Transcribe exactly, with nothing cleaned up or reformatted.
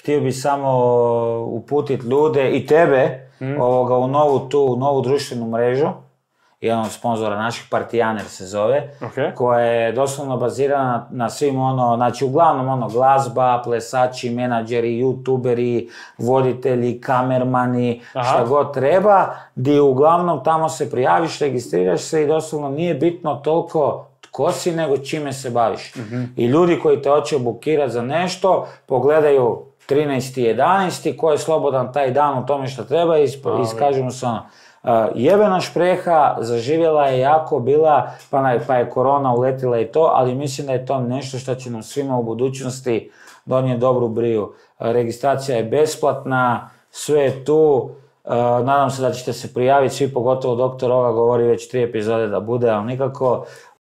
htio bi samo uputiti ljude i tebe mm. ovoga, u novu tu, novu društvenu mrežu. Jedan od sponzora naših, Partijaner se zove, okay. koja je doslovno bazirana na, na svim ono, znači uglavnom ono glazba, plesači, menadžeri, youtuberi, voditelji, kamermani, Aha. šta god treba, di uglavnom tamo se prijaviš, registriraš se i doslovno nije bitno toliko tko si, nego čime se baviš. Mm-hmm. I ljudi koji te hoće bukirati za nešto, pogledaju trinaesti jedanaesti ko je slobodan taj dan u tome što treba i iskažu mu se ono. Uh, jebena špreha, zaživjela je jako, bila, pa, na, pa je korona uletila i to, ali mislim da je to nešto što će nam svima u budućnosti donijeti dobru briju. Uh, registracija je besplatna, sve je tu, uh, nadam se da ćete se prijaviti, svi pogotovo doktor Oga govori već tri epizode da bude, ali nikako.